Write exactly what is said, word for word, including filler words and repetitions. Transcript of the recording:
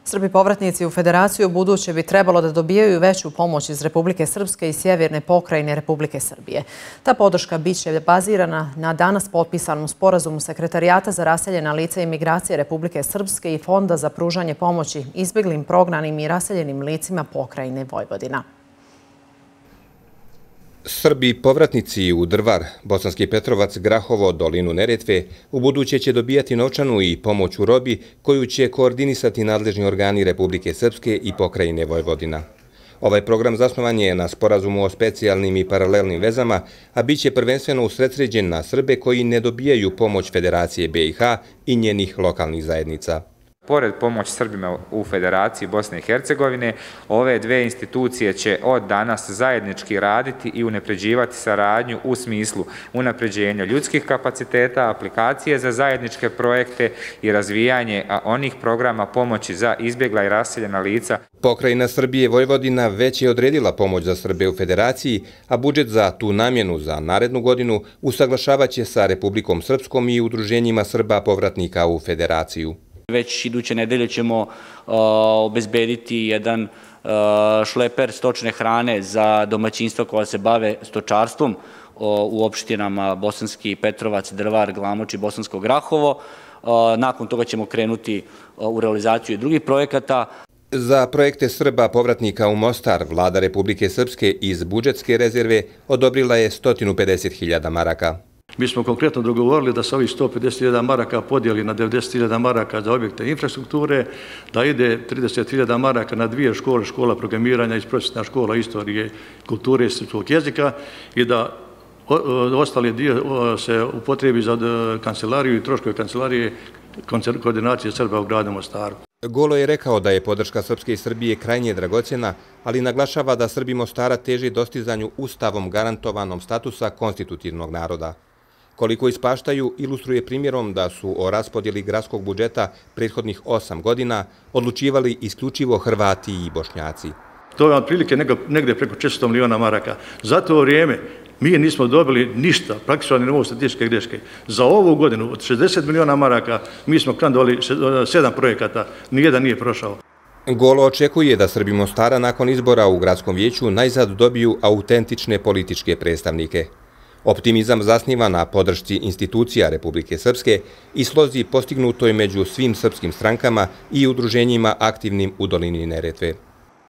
Srbi povratnici u Federaciju buduće bi trebalo da dobijaju veću pomoć iz Republike Srpske i sjeverne pokrajine Republike Srbije. Ta podrška biće bazirana na danas potpisanom sporazumu Sekretarijata za raseljena lica i migracije Republike Srpske i Fonda za pružanje pomoći izbjeglim, prognanim i raseljenim licima pokrajine Vojvodina. Srbi povratnici u Drvar, Bosanski Petrovac, Grahovo, dolinu Neretve u buduće će dobijati novčanu i pomoć u robi koju će koordinisati nadležni organi Republike Srpske i pokrajine Vojvodina. Ovaj program zasnovan je na sporazumu o specijalnim i paralelnim vezama, a bit će prvenstveno usredsređen na Srbe koji ne dobijaju pomoć Federacije B i H i njenih lokalnih zajednica. Pored pomoći Srbima u Federaciji Bosne i Hercegovine, ove dve institucije će od danas zajednički raditi i unapređivati saradnju u smislu unapređenja ljudskih kapaciteta, aplikacije za zajedničke projekte i razvijanje onih programa pomoći za izbjegla i raseljena lica. Pokrajina Srbije Vojvodina već je odredila pomoć za Srbe u Federaciji, a budžet za tu namjenu za narednu godinu usaglašavaće sa Republikom Srpskom i udruženjima Srba povratnika u Federaciju. Već iduće nedelje ćemo obezbediti jedan šleper stočne hrane za domaćinstva koja se bave stočarstvom u opštinama Bosanski Petrovac, Drvar, Glamoč i Bosansko Grahovo. Nakon toga ćemo krenuti u realizaciju i drugih projekata. Za projekte Srba povratnika u Mostar vlada Republike Srpske iz budžetske rezerve odobrila je sto pedeset hiljada maraka. Mi smo konkretno dogovorili da se ovih sto pedeset hiljada maraka podijeli na devedeset hiljada maraka za objekte infrastrukture, da ide trideset hiljada maraka na dvije škole, škola programiranja i prosvjetna škola istorije, kulture i srpskog jezika i da ostali dio se upotrebi za kancelariju i troškove kancelarije koordinacije Srba u gradu Mostaru. Golo je rekao da je podrška Srpske i Srbije krajnje dragocjena, ali naglašava da Srbi Mostara teži dostizanju ustavom garantovanom statusa konstitutivnog naroda. Koliko ispaštaju, ilustruje primjerom da su o raspodjeli gradskog budžeta prethodnih osam godina odlučivali isključivo Hrvati i Bošnjaci. To je otprilike negdje preko četiristo miliona maraka. Za to vrijeme mi nismo dobili ništa, praktično ni novo statističke greške. Za ovu godinu od šezdeset miliona maraka mi smo kandidovali sedam projekata, nijedan nije prošao. Golo očekuje da Srbi Mostara nakon izbora u gradskom vijeću najzad dobiju autentične političke predstavnike. Optimizam zasniva na podršci institucija Republike Srpske i slozi postignutoj među svim srpskim strankama i udruženjima aktivnim u dolini Neretve.